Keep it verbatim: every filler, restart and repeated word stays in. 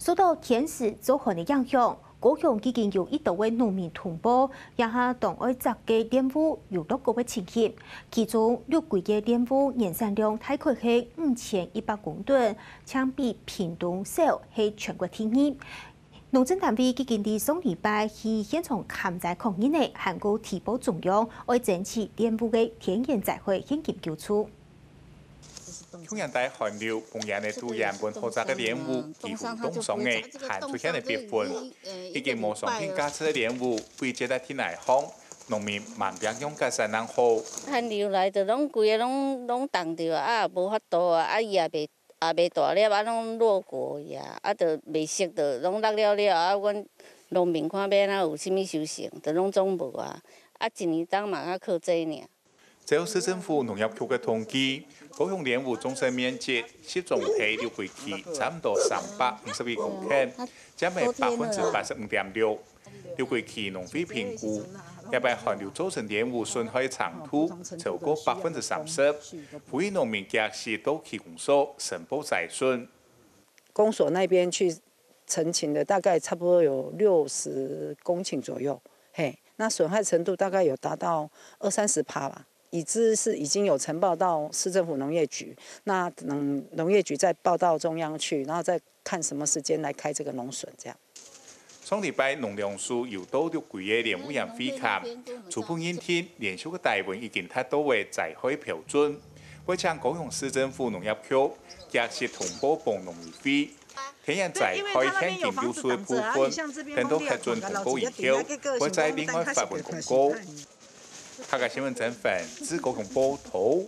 受到天時燥寒个影響，高雄已經有一多位農民通報，這下當愛摘个蓮霧有落果个情形。其中，六龜个蓮霧年產量大概係五千一百公噸，淨比屏東少，係全國第二。農政單位已經在上禮拜去現場勘摘確認个，還過提報中央，愛爭取蓮霧个天然災害現金救助。 去年底寒流，豐原个都原本好摘个蓮霧幾乎凍傷个，還出現了必分。已經無商品價值个蓮霧，被接到地泥項，農民慢慢用个山南好。寒流來就攏規个攏攏凍著啊，啊無法度啊，啊葉也袂也袂大粒啊，攏落果去啊，啊就袂熟，就攏落了了啊，阮農民看欲哪有啥物收成，就攏總無啊，啊一年冬嘛較靠這爾。 照市政府農業局个統計，高雄蓮霧總生面積集中在六龜區，差毋多三百五十一公頃，佔了百分之八十五點六。六龜區農會評估，這擺寒流造成蓮霧損害程度超過百分之三十，呼籲農民及時到區公所申報災損。 公所那邊去陳情的大概差不多有六十公頃左右，嘿，那損害程度大概有達到二三十趴吧。已知是已經有呈報到市政府農業局，那等農業局再報到中央去，然後再看什麼時間來開這個農損這樣。上禮拜農糧署又到六龜个蓮霧園會勘，初步認定連續个低溫已經達到个災害標準，會請高雄市政府農業局及時通報分農委會。 天然災害現金救助个部分，等到核准通過以後，會再另外發文公告。客家新聞曾凡自高雄報導。